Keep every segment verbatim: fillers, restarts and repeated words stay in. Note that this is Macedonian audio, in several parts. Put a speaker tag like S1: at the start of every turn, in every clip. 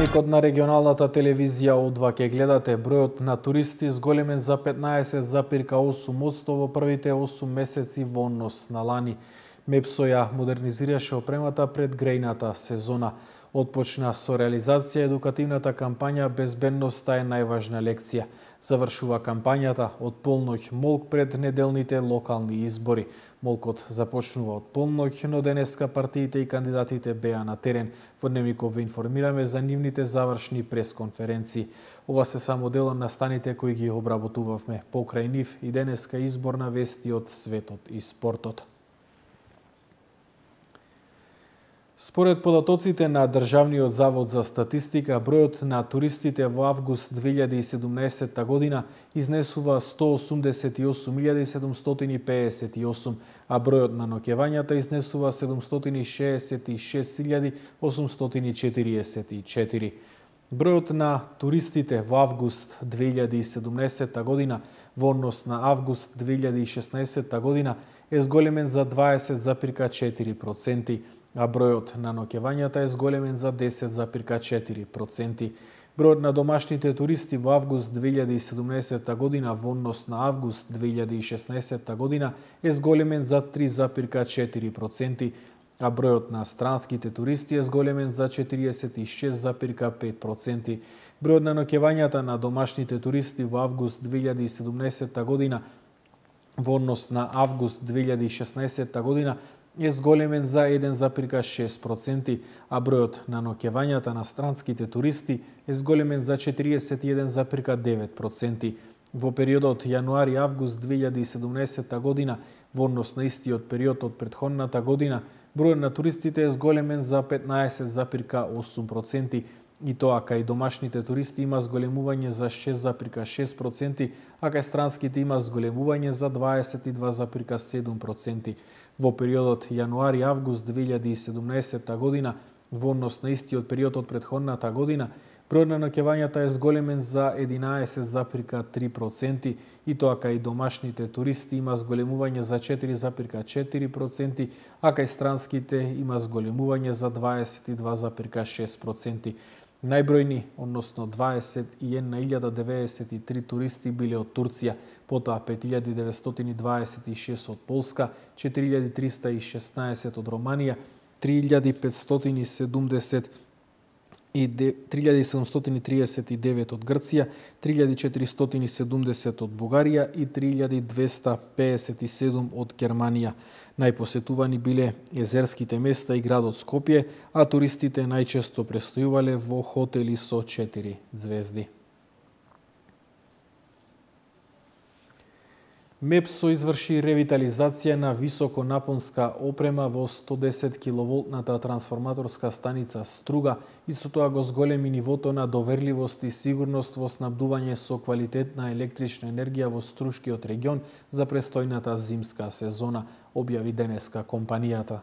S1: Дневникот на регионалната телевизија О два ќе гледате. Бројот на туристи зголемен за петнаесет зарез осум одсто во првите осум месеци во однос на лани. Мепсо ја модернизираше опремата пред грејната сезона. Отпочна со реализација едукативната кампања "Безбедноста е најважна лекција". Завршува кампањата од полноќ молк пред неделните локални избори. Молкот започнува од полноќ, но денеска партиите и кандидатите беа на терен. Во Дневников ве информираме за нивните завршни пресконференции. Ова се само дел од настаните кои ги обработувавме. Покрај нив и денеска изборна вести од светот и спортот. Според податоците на Државниот завод за статистика, бројот на туристите во август две илјади и седумнаесетта година изнесува сто осумдесет и осум илјади седумстотини пеесет и осум, а бројот на ноќевањата изнесува седумстотини шеесет и шест илјади осумстотини четириесет и четири. Бројот на туристите во август две илјади и седумнаесетта година во однос на август две илјади и шеснаесетта година е зголемен за дваесет зарез четири проценти, а бројот на ноќевањата е зголемен за десет зарез четири проценти. Бројот на домашните туристи во август две илјади и седумнаесетта година во однос на август две илјади и шеснаесетта година е зголемен за три зарез четири проценти, а бројот на странските туристи е зголемен за четириесет и шест зарез пет проценти. Бројот на ноќевањата на домашните туристи во август две илјади и седумнаесетта година во однос на август две илјади и шеснаесетта година е зголемен за еден зарез шест проценти, а бројот на ноќевањата на странските туристи е зголемен за четириесет и еден зарез девет проценти. Во периодот јануари-август две илјади и седумнаесетта година, во однос на истиот период од претходната година, бројот на туристите е зголемен за петнаесет зарез осум проценти, и тоа кај домашните туристи има зголемување за шест зарез шест проценти, а кај странските има зголемување за дваесет и два зарез седум проценти. Во периодот јануари-август две илјади и седумнаесетта година, во однос на истиот период од претходната година, бројот на ноќевањата е зголемен за единаесет зарез три проценти, и тоа кај домашните туристи има зголемување за четири зарез четири проценти, а кај странските има зголемување за дваесет и два зарез шест проценти. Најбројни, односно дваесет и една илјада деведесет и три туристи биле од Турција, потоа пет илјади деветстотини дваесет и шест од Полска, четири илјади триста и шеснаесет од Романија, три илјади петстотини седумдесет и три илјади седумстотини триесет и девет од Грција, три илјади четиристотини седумдесет од Бугарија и три илјади двеста пеесет и седум од Германија. Најпосетувани биле езерските места и градот Скопје, а туристите најчесто престојувале во хотели со четири звезди. Мепсо изврши ревитализација на високонапонска опрема во сто десет киловолтната трансформаторска станица Струга и со тоа го зголеми нивото на доверливост и сигурност во снабдување со квалитетна електрична енергија во Струшкиот регион за престојната зимска сезона, објави денеска компанијата.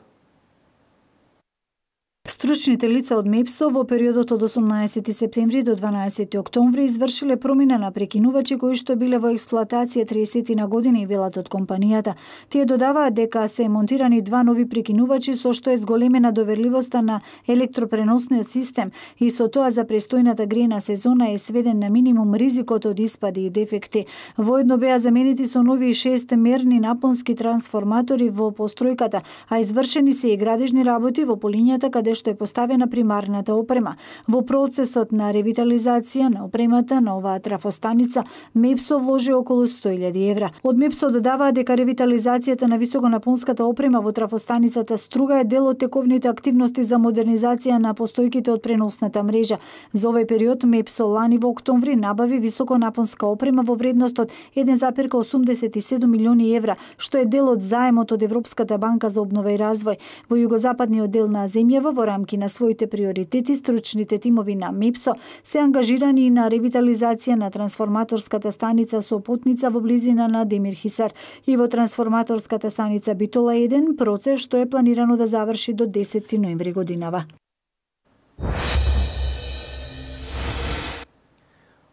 S2: Стручните лица од Мепсо во периодот од осумнаесети септември до дванаесети октомври извршиле промена на прекинувачи кои што биле во експлоатација триесет на години, велат од компанијата. Тие додаваат дека се монтирани два нови прекинувачи со што е зголемена доверливоста на електропреносниот систем и со тоа за престојната грејна сезона е сведен на минимум ризикот од испади и дефекти. Воедно беа заменети со нови шест мерни напонски трансформатори во постројката, а извршени се и градежни работи во полињата каде што е поставена примарната опрема. Во процесот на ревитализација на опремата на оваа трафостаница, Мепсо вложи околу сто илјади евра. Од Мепсо додаваа дека ревитализацијата на високонапонската опрема во трафостаницата Струга е дел од тековните активности за модернизација на постојките од преносната мрежа. За овој период Мепсо лани во октомври набави високонапонска опрема во вредност од еден зарез осумдесет и седум милиони евра, што е дел од заемот од Европската банка за обнова и развој. Во југозападниот дел на земјава, во рамки на своите приоритети, стручните тимови на Мепсо се ангажирани и на ревитализација на трансформаторската станица Сопотница во близина на Демирхисар и во трансформаторската станица Битола еден, процес што е планирано да заврши до десети ноември годинава.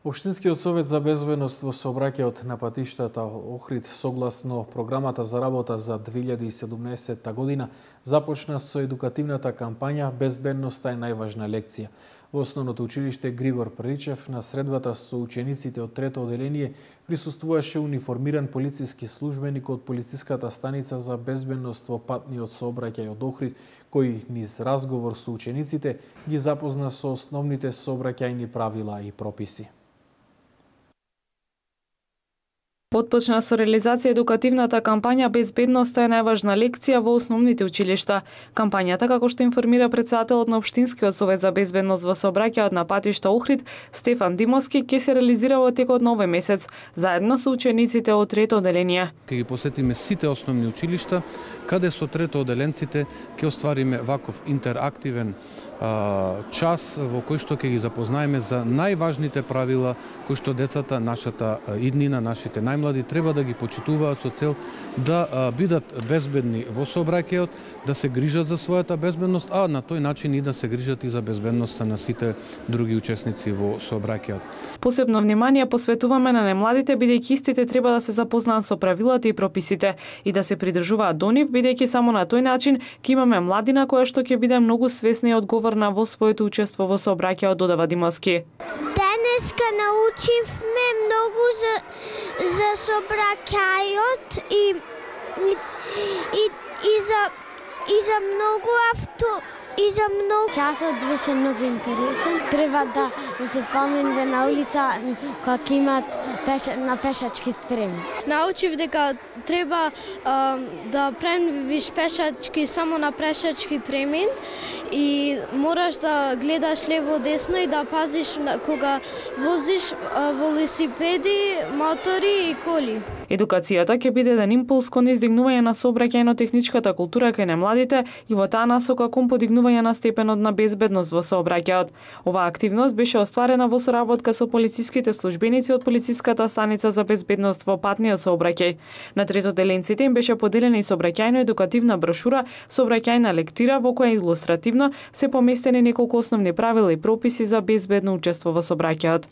S1: Општинскиот совет за безбедност во сообраќајот на патиштата Охрид согласно програмата за работа за две илјади и седумнаесетта година започна со едукативната кампања "Безбедноста е најважна лекција". Во основното училиште Григор Приличев на средбата со учениците од трето оделение присуствуваше униформиран полициски службеник од полициската станица за безбедност во патниот сообраќај од Охрид, кој низ разговор со учениците ги запозна со основните сообраќајни правила и прописи.
S3: Потпочна со реализација едукативната кампања Безбедноста е најважна лекција во основните училишта. Кампањата, како што информира претседателот на Општинскиот совет за безбедност во сообраќајот на патишта Охрид, Стефан Димовски, ќе се реализира во текот на овој месец, заедно со учениците од трето оделение.
S4: Ќе ги посетиме сите основни училишта, каде со трето оделенците ќе оствариме ваков интерактивен час во кој што ќе ги запознаеме за најважните правила кои што децата, нашата иднина, нашите најмлади треба да ги почитуваат со цел да бидат безбедни во сообраќајот, да се грижат за својата безбедност, а на тој начин и да се грижат и за безбедноста на сите други учесници во сообраќајот.
S3: Посебно внимание посветуваме на најмладите, бидејќи истите треба да се запознаат со правилата и прописите и да се придржуваат до нив, бидејќи само на тој начин ќе имаме младина која што ќе биде многу свесна и одговорна во своето учество во сообраќајот, додава Димовски.
S5: Денеска научивме многу за, за сообраќајот и, и, и, и, за, и за многу авто и за многу.
S6: Часот беше многу интересен. Треба да, да се поминува на улица кога ќе имат пеш, на пешачки премин.
S7: Научив дека треба а, да преминувиш пешачки само на пешачки премин и мораш да гледаш лево десно и да пазиш кога возиш а, велосипеди, мотори и коли.
S3: Едукацијата ќе биде еден импулс кон издигнување на сообраќајно-техничката култура кај немладите и во таа насока кон подигнување на степенот на безбедност во сообраќајот. Оваа активност беше остварена во соработка со полициските службеници од полициската станица за безбедност во патниот сообраќај. На трето деленците им беше поделена и сообраќајно-едукативна брошура, сообраќајна лектира во која илустративно се поместени неколку основни правила и прописи за безбедно учество во сообраќајот.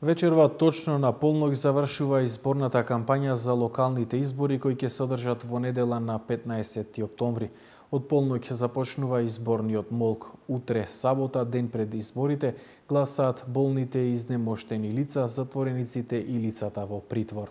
S1: Вечерва точно на полнок завршува изборната кампања за локалните избори кои ќе се одржат во недела на петнаесети октомври. Од полнок започнува изборниот молк. Утре, сабота, ден пред изборите, гласаат болните и изнемоштени лица, затворениците и лицата во притвор.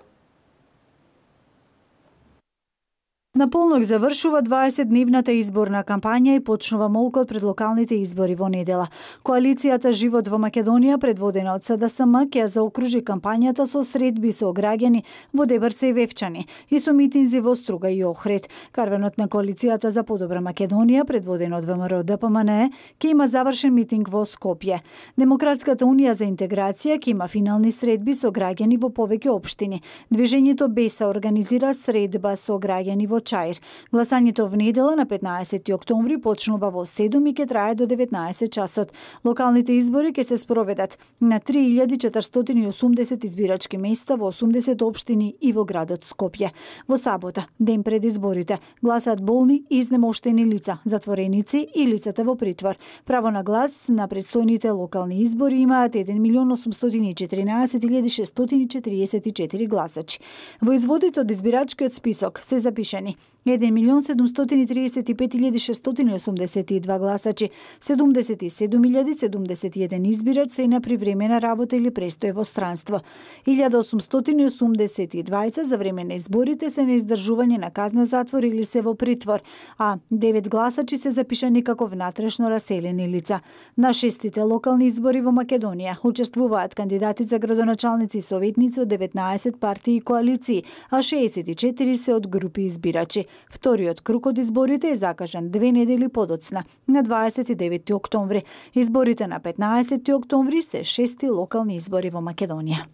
S2: На полнок завршува дваесетдневната изборна кампања и почнува молкот пред локалните избори во недела. Коалицијата Живот во Македонија, предводена од СДСМ, ќе заокружи кампањата со средби со граѓани во Дебрце и Вевчани и со митинзи во Струга и Охрид. Карвенот на коалицијата за подобра Македонија, предводен од ВМРО ДПМНЕ, ќе има завршен митинг во Скопје. Демократската унија за интеграција ќе има финални средби со граѓани во повеќе општини. Движењето БЕСА организира средба со граѓани во Чаир. Гласањето в недела на петнаесети октомври почнува во седум и ќе трае до деветнаесет часот. Локалните избори ќе се спроведат на три илјади четиристотини и осумдесет избирачки места во осумдесет општини и во градот Скопје. Во сабота, ден пред изборите, гласаат болни и изнемоштени лица, затвореници и лицата во притвор. Право на глас на предстојните локални избори имаат еден милион осумстотини и четиринаесет илјади шестстотини и четириесет и четири гласачи. Во изводите од избирачкиот список се запишени еден милион седумстотини и триесет и пет илјади шестстотини и осумдесет и два гласачи, седумдесет и седум илјади седумдесет и еден избирач се на привремена работа или престој во странство. илјада осумстотини и осумдесет и двајца за време на изборите се на издржување на казна затвор или се во притвор, а девет гласачи се запишани како внатрешно раселени лица. На шестите локални избори во Македонија учествуваат кандидати за градоначалници и советници од деветнаесет партии и коалиции, а шеесет и четири се од групи избирачи. Вториот круг од изборите е закажан две недели подоцна, на дваесет и девети октомври. Изборите на петнаесети октомври се шести локални избори во Македонија.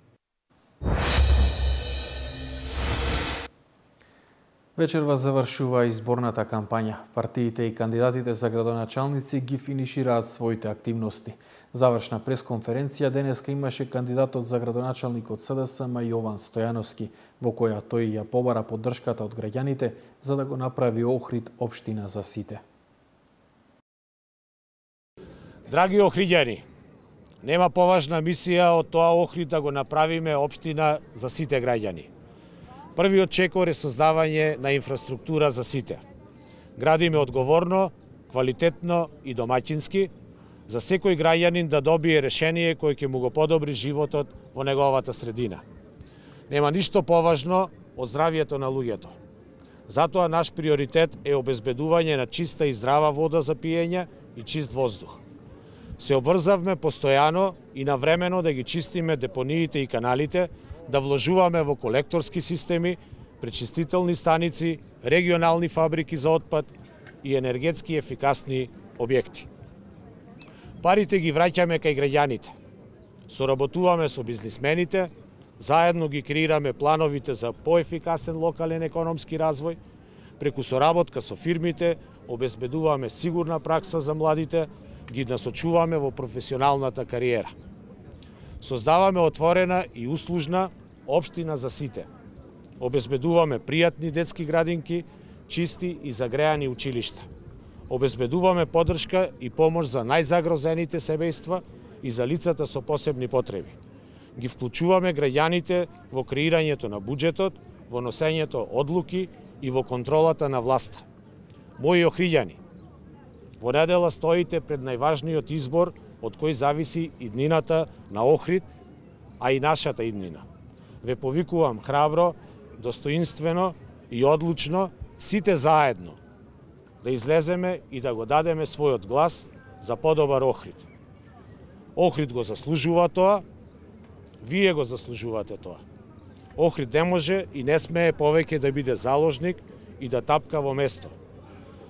S1: Вечерва завршува изборната кампања. Партиите и кандидатите за градоначалници ги финишираат своите активности. Завршна пресконференција денеска имаше кандидатот за градоначалник од СДСМ Јован Стојановски, во која тој ја побара поддршката од граѓаните за да го направи Охрид општина за сите.
S8: Драги охриѓани, нема поважна мисија од тоа Охрид да го направиме општина за сите граѓани. Првиот чекор е создавање на инфраструктура за сите. Градиме одговорно, квалитетно и домаќински, за секој граѓанин да добие решение кој ќе му го подобри животот во неговата средина. Нема ништо поважно од здравието на луѓето. Затоа наш приоритет е обезбедување на чиста и здрава вода за пиење и чист воздух. Се обрзавме постојано и навремено да ги чистиме депониите и каналите, да вложуваме во колекторски системи, пречистителни станици, регионални фабрики за отпад и енергетски ефикасни објекти. Парите ги враќаме кај граѓаните. Соработуваме со бизнисмените, заедно ги креираме плановите за поефикасен локален економски развој, преку соработка со фирмите обезбедуваме сигурна пракса за младите, ги насочуваме во професионалната кариера. Создаваме отворена и услужна општина за сите. Обезбедуваме пријатни детски градинки, чисти и загреани училишта. Обезбедуваме поддршка и помош за најзагрозените семејства и за лицата со посебни потреби. Ги вклучуваме граѓаните во креирањето на буџетот, во носењето одлуки и во контролата на власта. Мои охриѓани, во недела стоите пред најважниот избор од кој зависи иднината на Охрид, а и нашата иднина. Ве повикувам храбро, достоинствено и одлучно, сите заедно, да излеземе и да го дадеме својот глас за подобар Охрид. Охрид го заслужува тоа, вие го заслужувате тоа. Охрид не може и не смее повеќе да биде заложник и да тапка во место.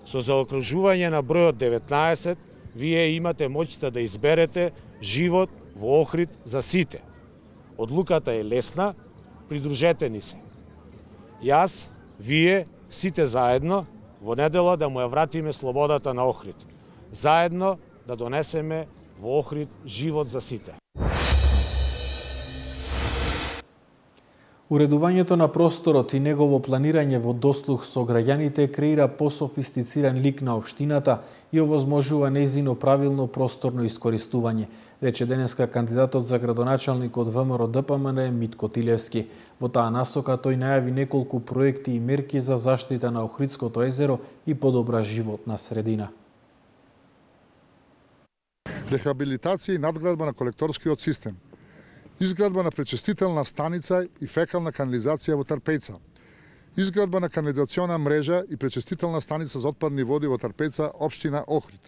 S8: Со заокружување на бројот деветнаесет, вие имате моќта да изберете живот во Охрид за сите. Одлуката е лесна, придружете ни се. Јас, вие, сите заедно, во недела да му ја вратиме слободата на Охрид. Заедно да донесеме во Охрид живот за сите.
S1: Уредувањето на просторот и негово планирање во дослух со граѓаните креира пософистициран лик на општината и овозможува нејзино правилно просторно искористување, рече денеска кандидатот за градоначалник од ВМРО Д П М Н Митко Тилевски. Во таа насока тој најави неколку проекти и мерки за заштита на Охридското езеро и подобра животна средина.
S9: Рехабилитација и надградба на колекторскиот систем. Изградба на пречистителна станица и фекална канализација во Трпејца. Изградба на канализациона мрежа и пречистителна станица за отпадни води во Трпејца, општина Охрид.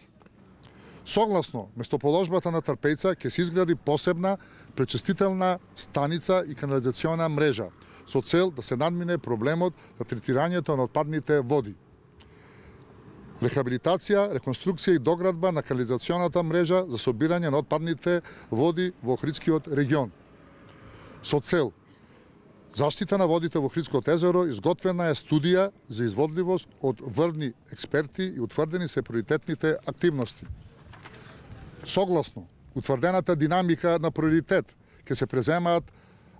S9: Согласно местоположбата на Трпејца ќе се изгради посебна пречистителна станица и канализациона мрежа со цел да се надмине проблемот на третирањето на отпадните води. Рехабилитација, реконструкција и доградба на канализационата мрежа за собирање на отпадните води во Охридскиот регион. Со цел заштита на водите во Охридското езеро изготвена е студија за изводливост од врвни експерти и утврдени се приоритетните активности. Согласно утврдената динамика на приоритет ќе се преземаат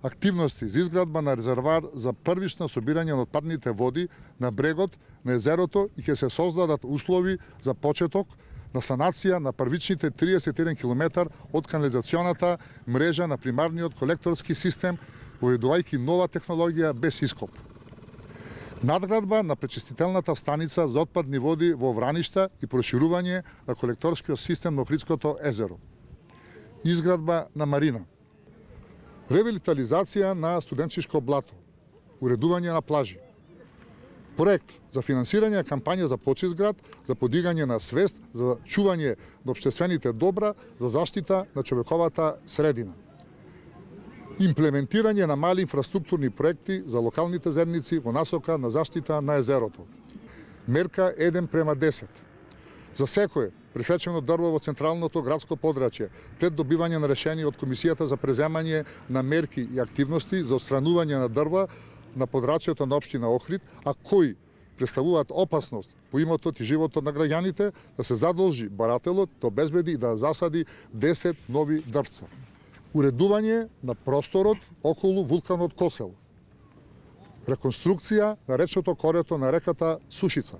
S9: активности за изградба на резервар за првично собирање на отпадните води на брегот на езерото и ќе се создадат услови за почеток на санација на првичните триесет и еден километар од канализационата мрежа на примарниот колекторски систем, воведувајќи нова технологија без ископ. Надградба на пречистителната станица за отпадни води во Враништа и проширување на колекторскиот систем на Охридското езеро. Изградба на марина. Ревитализација на студенчишко блато. Уредување на плажи. Проект за финансирање на кампања за почист град, за подигање на свест, за чување на општествените добра, за заштита на човековата средина. Имплементирање на мали инфраструктурни проекти за локалните заедници во насока на заштита на езерото. Мерка еден према десет. За секое пресечено дрво во централното градско подрачје, пред добивање на решение од Комисијата за преземање на мерки и активности за отстранување на дрва на подрачјето на општина Охрид, а кои представуваат опасност по имотот и животот на граѓаните, да се задолжи барателот да обезбеди и да засади десет нови дрвца. Уредување на просторот околу вулканот Косел. Реконструкција на речното корето на реката Сушица.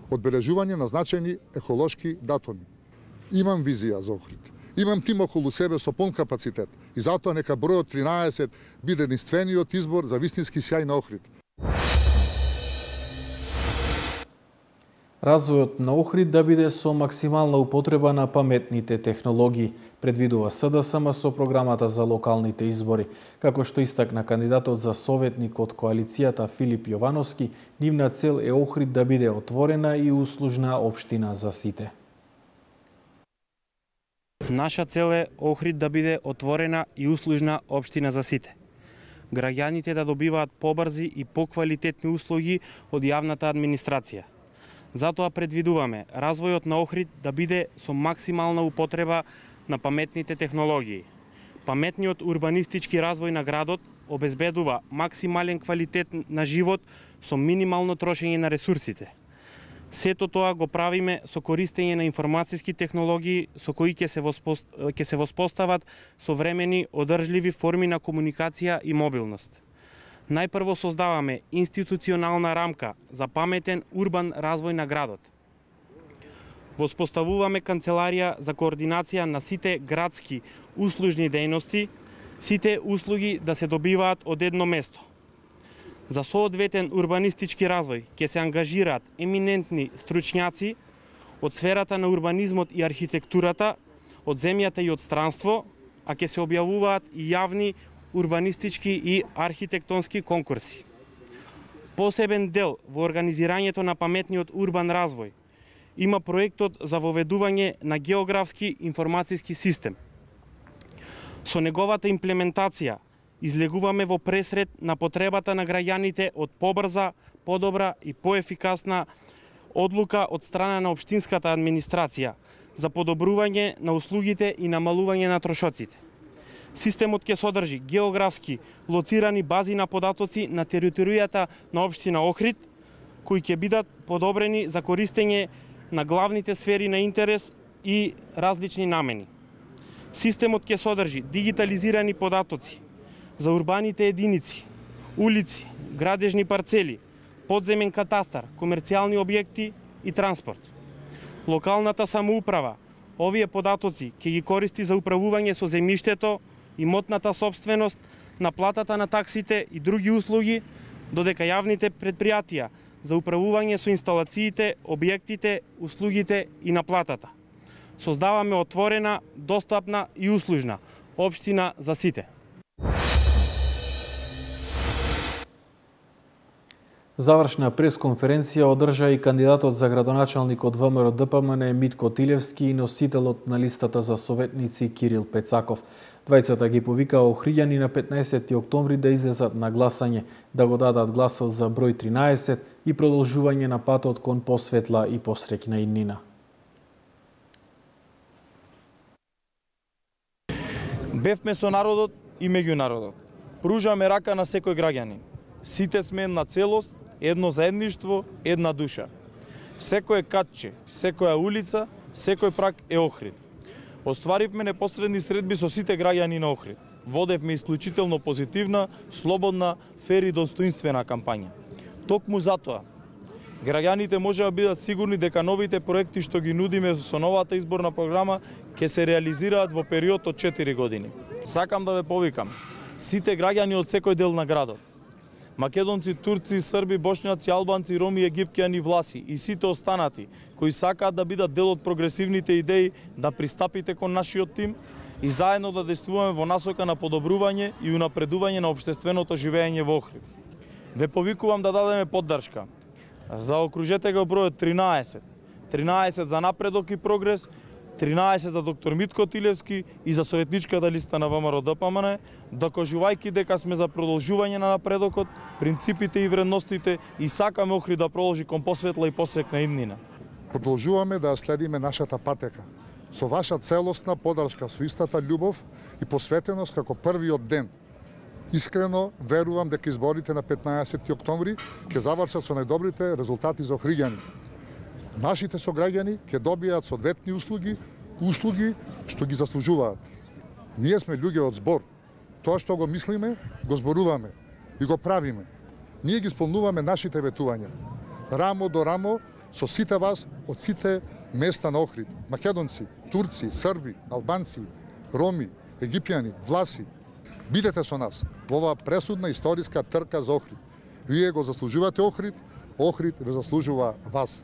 S9: Одбележување на значајни еколошки датуми. Имам визија за Охрид. Имам тим околу себе со полн капацитет и затоа нека бројот тринаесет биде единствениот избор за вистински сјај на Охрид.
S1: Развојот на Охрид да биде со максимална употреба на паметните технологии, предвидува СДСМ со програмата за локалните избори. Како што истакна кандидатот за советник од коалицијата Филип Јовановски, нивна цел е Охрид да биде отворена и услужна општина за сите.
S10: Наша цел е Охрид да биде отворена и услужна општина за сите. Граѓаните да добиваат побрзи и поквалитетни услуги од јавната администрација. Затоа предвидуваме развојот на Охрид да биде со максимална употреба на паметните технологии. Паметниот урбанистички развој на градот обезбедува максимален квалитет на живот со минимално трошење на ресурсите. Сето тоа го правиме со користење на информацијски технологии со кои ќе се, воспост... ќе се воспостават современи одржливи форми на комуникација и мобилност. Најпрво создаваме институционална рамка за паметен урбан развој на градот. Воспоставуваме канцеларија за координација на сите градски услужни дејности, сите услуги да се добиваат од едно место. За соодветен урбанистички развој ќе се ангажираат еминентни стручњаци од сферата на урбанизмот и архитектурата, од земјата и од странство, а ќе се објавуваат и јавни урбанистички и архитектонски конкурси. Посебен дел во организирањето на паметниот урбан развој има проектот за воведување на географски информацијски систем. Со неговата имплементација излегуваме во пресред на потребата на граѓаните од побрза, подобра и поефикасна одлука од страна на општинската администрација за подобрување на услугите и намалување на трошоците. Системот ќе содржи географски лоцирани бази на податоци на територијата на општина Охрид, кои ќе бидат подобрени за користење на главните сфери на интерес и различни намени. Системот ќе содржи дигитализирани податоци за урбаните единици, улици, градежни парцели, подземен катастар, комерцијални објекти и транспорт. Локалната самоуправа овие податоци ќе ги користи за управување со земјиштето, имотната собственост, наплатата на таксите и други услуги, додека јавните предпријатија за управување со инсталациите, објектите, услугите и наплатата. Создаваме отворена, достапна и услужна општина за сите.
S1: Завршна пресконференција одржа и кандидатот за градоначалник од ВМРО Д П М Н Митко Тилевски и носителот на листата за советници Кирил Пецаков. Двајцата ги повикаа охриѓани на петнаесети октомври да излезат на гласање, да го дадат гласот за број тринаесет и продолжување на патот кон посветла и посреќна иднина.
S11: Бевме со народот и меѓу народот. Пружаме рака на секој граѓанин. Сите сме една целост, едно заедништво, една душа. Секое катче, секоја улица, секој прак е Охрид. Остваривме непосредни средби со сите граѓани на Охрид. Водевме исклучително позитивна, слободна, фер и достоинствена кампања. Токму затоа, граѓаните може да бидат сигурни дека новите проекти што ги нудиме со новата изборна програма ќе се реализираат во период од четири години. Сакам да ве повикам, сите граѓани од секој дел на градот, македонци, турци, срби, бошњаци, албанци, роми, египтјани, власи и сите останати кои сакаат да бидат дел од прогресивните идеи, да пристапите кон нашиот тим и заедно да действуваме во насока на подобрување и унапредување на општественото живење во Охрид. Ве повикувам да дадеме поддршка. Заокружете го бројот тринаесет. тринаесет за напредок и прогрес, тринаесет за доктор Митко Тилевски и за советничката листа на ВМРО Д П М Н, докажувајќи дека сме за продолжување на напредокот, принципите и вредностите и сакаме Охрид да продолжи кон посветла и посрекна иднина.
S9: Продолжуваме да следиме нашата патека со ваша целосна поддршка, со истата љубов и посветеност како првиот ден. Искрено верувам дека изборите на петнаесети октомври ќе завршат со најдобрите резултати за охриѓани. Нашите сограѓани ќе добијат соодветни услуги, услуги што ги заслужуваат. Ние сме луѓе од збор. Тоа што го мислиме, го зборуваме и го правиме. Ние ги исполнуваме нашите ветувања. Рамо до рамо со сите вас од сите места на Охрид. Македонци, турци, срби, албанци, роми, египјани, власи. Бидете со нас во оваа пресудна историска трка за Охрид. Вие го заслужувате Охрид, Охрид ве заслужува вас.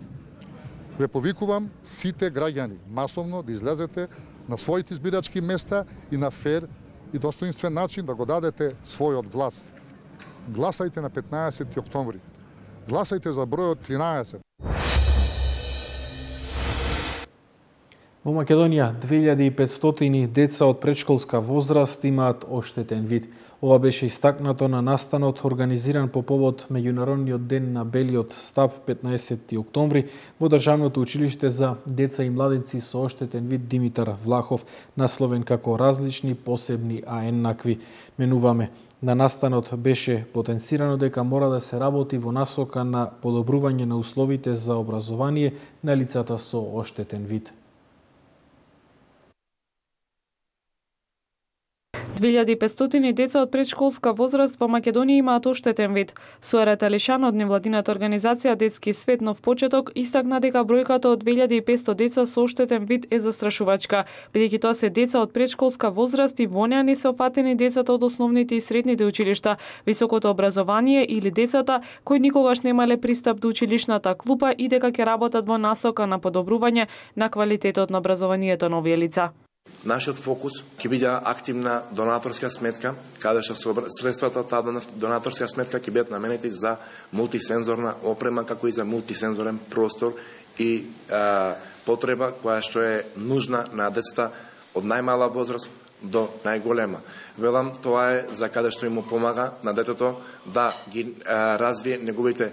S9: Ве повикувам сите граѓани масовно да излезете на своите избирачки места и на фер и достоинствен начин да го дадете својот глас. Гласајте на петнаесети октомври. Гласајте за бројот тринаесет.
S1: Во Македонија две илјади и петстотини деца од претшколска возраст имаат оштетен вид. Ова беше истакнато на настанот организиран по повод Меѓународниот ден на белиот стап петнаесети октомври во Државното училиште за деца и младенци со оштетен вид Димитар Влахов, насловен како различни, посебни, а еднакви. Менуваме. На настанот беше потенцирано дека мора да се работи во насока на подобрување на условите за образование на лицата со оштетен вид.
S3: две илјади и петстотини деца од претшколска возраст во Македонија имаат оштетен вид. Суарет Алишан од невладината организација Детски свет нов почеток истакна дека бројката од две илјади и петсто деца со оштетен вид е застрашувачка, бидејќи тоа се деца од претшколска возраст и во неа не се опфатени децата од основните и средните училишта, високото образование или децата кои никогаш немале пристап до училишната клупа и дека ќе работат во насока на подобрување на квалитетот на образованието на овие лица.
S12: Нашиот фокус ќе биде активна донаторска сметка, каде што средствата таа донаторска сметка ќе бидат наменети за мултисензорна опрема, како и за мултисензорен простор и а, потреба која што е нужна на децата од најмала возраст до најголема. Велам, тоа е за каде што им помага на детето да ги а, развие неговите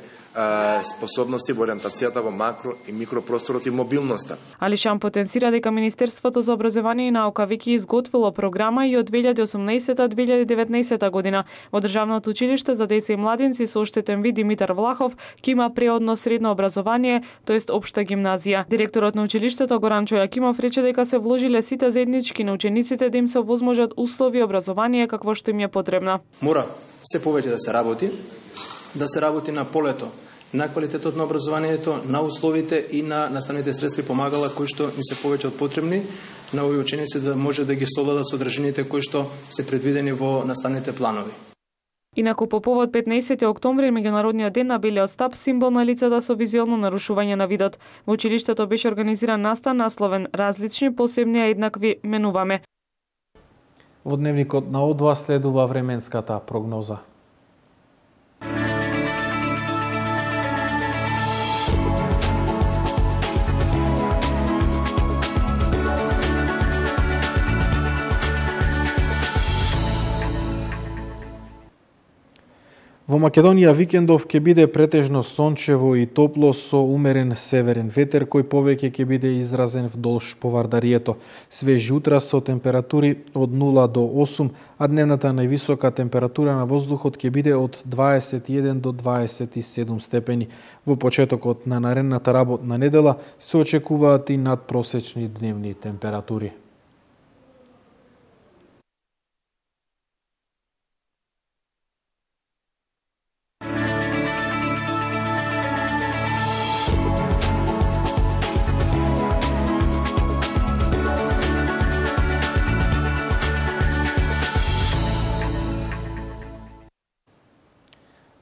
S12: способности во ориентацијата во макро и микропросторот и мобилноста.
S3: Алишан потенцира дека Министерството за образование и наука веќе изготвило програма и од две илјади и осумнаесета до две илјади и деветнаесета година во Државното училиште за деца и младенци со оштетен вид Димитар Влахов ќе има преодно средно образование, тоест општа гимназија. Директорот на училиштето Горан Чојакимов рече дека се вложиле сите заеднички на учениците да им се овозможат услови и образование какво што им е потребно.
S13: Мора се повеќе да се работи, да се работи на полето, на квалитетот на образованието, на условите и на наставните средства и помагала кои што ни се повеќе од потребни на овие ученици да може да ги совладат содржините кои што се предвидени во наставните планови.
S3: Инаку по повод петнаесети октомври, Меѓународниот ден на белиот стап, символ на лицата со визуелно нарушување на видот. Во училиштето беше организиран настан насловен различни, посебни, а еднакви, менуваме.
S1: Во дневникот на О два следува временската прогноза. Во Македонија викендов ќе биде претежно сончево и топло со умерен северен ветер кој повеќе ќе биде изразен вдолж Повардарието. Свежи утра со температури од нула до осум, а дневната највисока температура на воздухот ќе биде од дваесет и еден до дваесет и седум степени. Во почетокот на наредната работна недела се очекуваат и надпросечни дневни температури.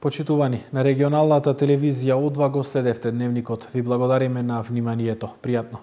S1: Почитувани, на регионалната телевизија О два го следевте дневникот. Ви благодариме на вниманието. Пријатно.